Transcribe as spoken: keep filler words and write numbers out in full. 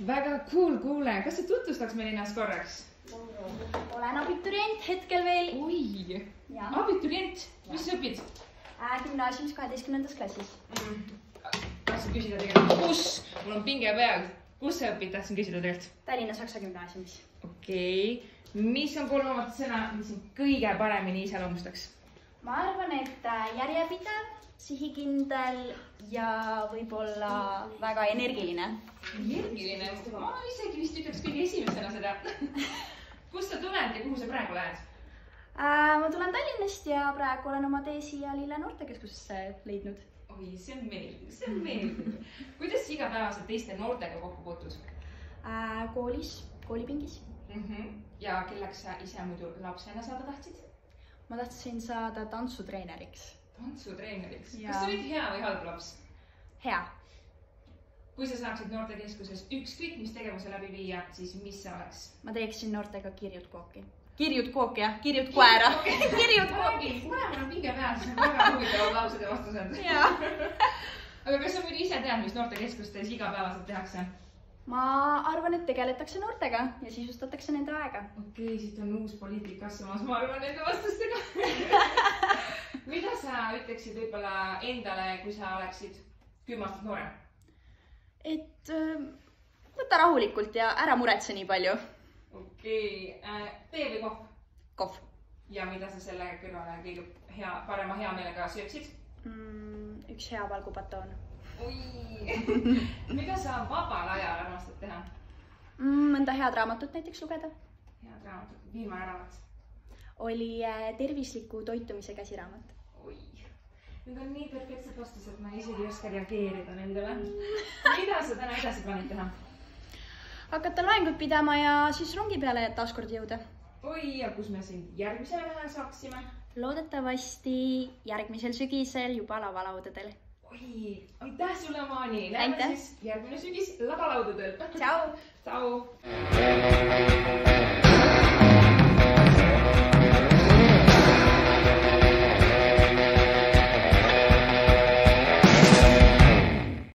Väga cool kuule. Kas sa tutvustaks meil ennast korraks? Olen abiturient hetkel veel. Oi, abiturient. Mis sa õpid? Gümnaasiumis kaheteistkümnendas klassis. Tahtsin küsida tegelikult, kus? Mul on pinge peal. Kus sa õpid? Tahtsin küsida tegelikult. Tallinna Saksa gümnaasiumis. Okei. Mis on kolmamat sõna, mis on kõige paremini iseloomustaks? Ma arvan, et järjepidev, sihikindel ja võib-olla väga energiline. Energiline? Ma isegi vist ütleks kõige esimesena seda. Kust sa tuled ja kuhu sa praegu lähed? Ma tulen Tallinnast ja praegu olen oma tee siia Lille noortekeskusesse leidnud. Oi, see on meeldiv, see on meeldiv. Kuidas sa igapäevaselt teiste noortega kokku puutud? Koolis, koolipingis. Ja kelleks sa ise muidu lapsena saada tahtsid? Ma tahtsin saada tantsutreeneriks. Tantsutreeneriks? Kas sa olid hea või halb laps? Hea. Kui sa saaksid noortekeskuses ükskõik mis tegevuse läbi viia, siis mis see oleks? Ma teeksin noortega kirjut kooki. Kirjut kooki, jah? Kirjut koera. Kirjut kooki. Kuna mul on pinge peal, siis on väga huvitavad laused ja vastused. Aga kas sa muidu ise tead, mis noortekeskustes igapäevaselt tehakse? Ma arvan, et tegeletakse noortega ja sisustatakse nende aega. Okei, siit on uus poliitik kasvamas, ma arvan, nende vastustega. Mida sa ütleksid võib-olla endale, kui sa oleksid kümme aastat noorem? Et võta rahulikult ja ära muretse nii palju. Okei, tee või kohv? Kohv. Ja mida sa selle kõrvale kõige parema hea meelega sööksid? Üks hea valgupatoon. Oi, mida sa vabal ajal armastad teha? Mõnda head raamatut näiteks lugeda. Head raamatut, viimane raamat? Oli tervisliku toitumise käsiraamat. Oi, nüüd on nii perfektsed vastused, ma isegi ei oska reageerida nendele. Mida sa täna edasi plaanid teha? Hakata loengut pidama ja siis rongi peale taaskord jõuda. Oi, ja kus me sind järgmisele näha saaksime? Loodetavasti järgmisel sügisel juba lavalaudadel. Oi, aitäh sulle, Maani! Läheme siis järgmine sügis lavalaudadel. Tšau! Tšau!